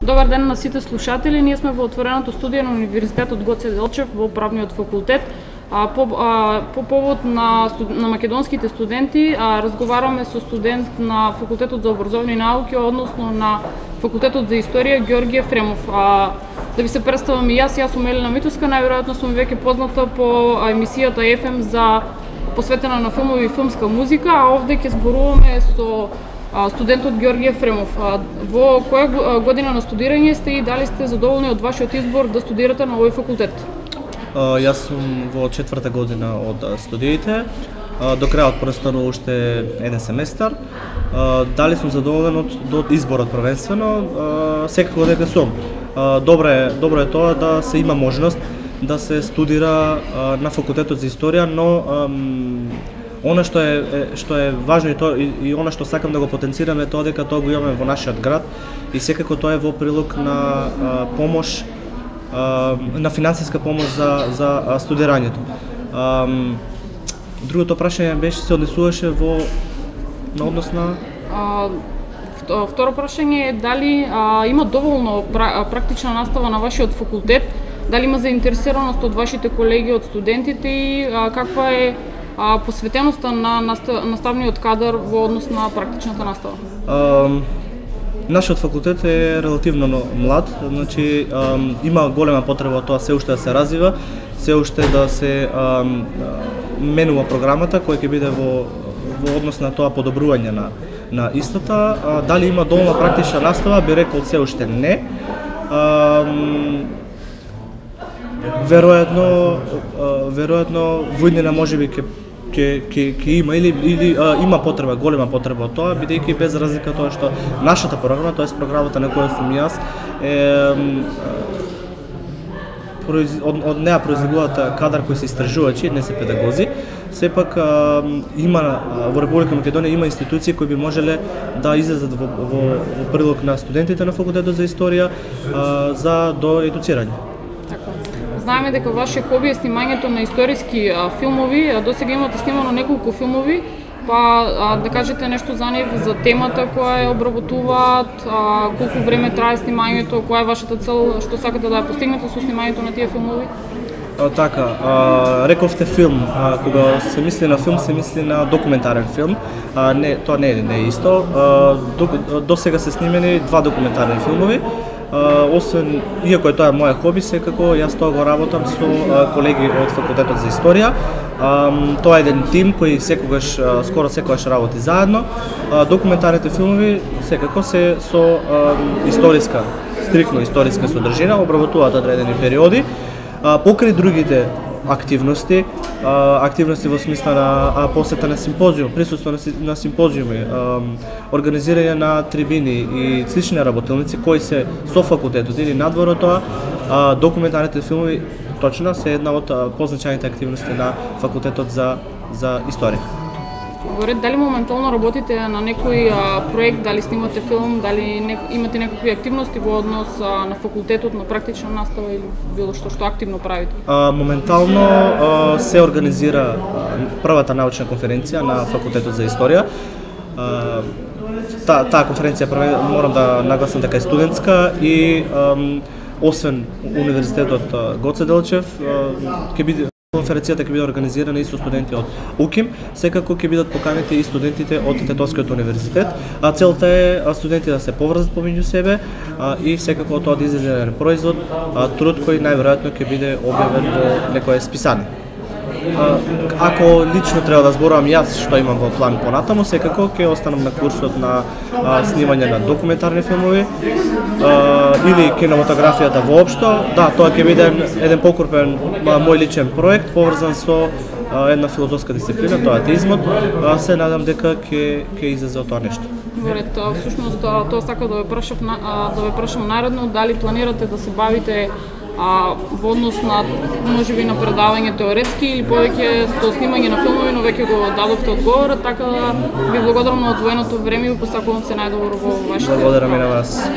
Добар ден на сите слушатели. Ние сме во отвореното студио на Универзитетот Гоце Делчев во правниот факултет. По повод на македонските студенти, разговараме со студент на Факултетот за образовни науки, односно на Факултетот за историја Ѓорѓе Ефремов. Да ви се представам и јас сум Елена Митовска, најверојатно сум веќе позната по емисијата FM за посветена на филмови и филмска музика, а овде ќе зборуваме со студентот Ѓорѓе Ефремов. Во која година на студирање сте и дали сте задоволни од вашиот избор да студирате на овој факултет? Јас сум во 4-та година од студиите. До крајот престои уште еден семестар. Дали сум задоволен од изборот првенствено? Секако дека сум. Добро е тоа да се има можност да се студира на факултетот за историја, но она што е важно и она што сакам да го потенцирам е тоа дека тоа го имаме во нашиот град и секако тоа е во прилог на помош, на финансиска помош за студирањето. Другото прашање беше се однесуваше на однос на Второ прашање е дали има доволно практична настава на вашиот факултет, дали има заинтересираност од вашите колеги, од студентите и каква е посветеноста на наставниот кадар во однос на практичната настава? Нашиот факултет е релативно млад, значи има голема потреба тоа се уште да се развива, се уште да се менува програмата која ќе биде во однос на тоа подобрување на истата. Дали има доволно практична настава, би рекол се уште не. Веројатно во иднина можеби ќе има или има потреба, голема потреба од тоа, бидејќи без разлика тоа што нашата програма, тоест програмата на која сум јас, од неа произлегуваат кадар кои се истражувачи, не се педагози. Сепак има во Република Македонија има институции кои би можеле да излезат во прилог на студентите на факултетот за историја за до едуцирање. Знаеме дека ваше хоби е снимањето на историски филмови, досега имате снимано неколку филмови, па да кажете нешто за нив, за темата која ја обработуваат, колку време трае снимањето, која е вашата цел, што сакате да ја постигнете со снимањето на тие филмови? Така, рековте филм, кога се мисли на филм, се мисли на документарен филм, тоа не е исто. До сега се снимени 2 документарни филмови, освен, иако е тоа моја хоби, секако јас тоа го работам со колеги од Факултетот за историја. Тоа е еден тим кој скоро секогаш работи заедно. Документарните филмови секако се со стрикно историска содржина, обработуваат одредени периоди, покрај другите активности во смисла на посета на симпозиум, присуство на симпозиуми, организирање на трибини и слични работилници кои се со факултетот или надвор од тоа, документарните филмови точно се една од позначајните активности на факултетот за историја. Дали моментално работите на некој проект, дали снимате филм, дали имате некакви активности во однос на факултетот, на практична настава или било што активно правите? Моментално се организира првата научна конференција на Факултетот за историја. Таа конференција морам да нагласам дека е студентска и освен Универзитетот Гоце Делчев, конференцијата ќе биде организирана и со студенти од УКИМ, секако ќе бидат поканети и студентите од Тетовскиот универзитет. Целта е студенти да се поврзат помеѓу себе и секако тоа да излезе еден производ, труд кој најверојатно ќе биде објавен во некое списание. Ако лично треба да зборувам јас што имам во план понатаму, секако ќе останам на курсот на снимање на документарни филмови или кинематографијата воопшто. Да, тоа ќе биде еден покрупен мој личен проект поврзан со една филозофска дисциплина, тоа е атеизмот. Се надам дека ќе излезе од тоа нешто. Всушност тоа сакам да ве прашам наредно, дали планирате да се бавите во однос на можеби на предавање теоретски или повеќе со снимање на филмови, но веќе го дадовте одговорот, така да ви благодарам на одвоеното време и посакувам се најдобро во вашите. Благодарам и на вас.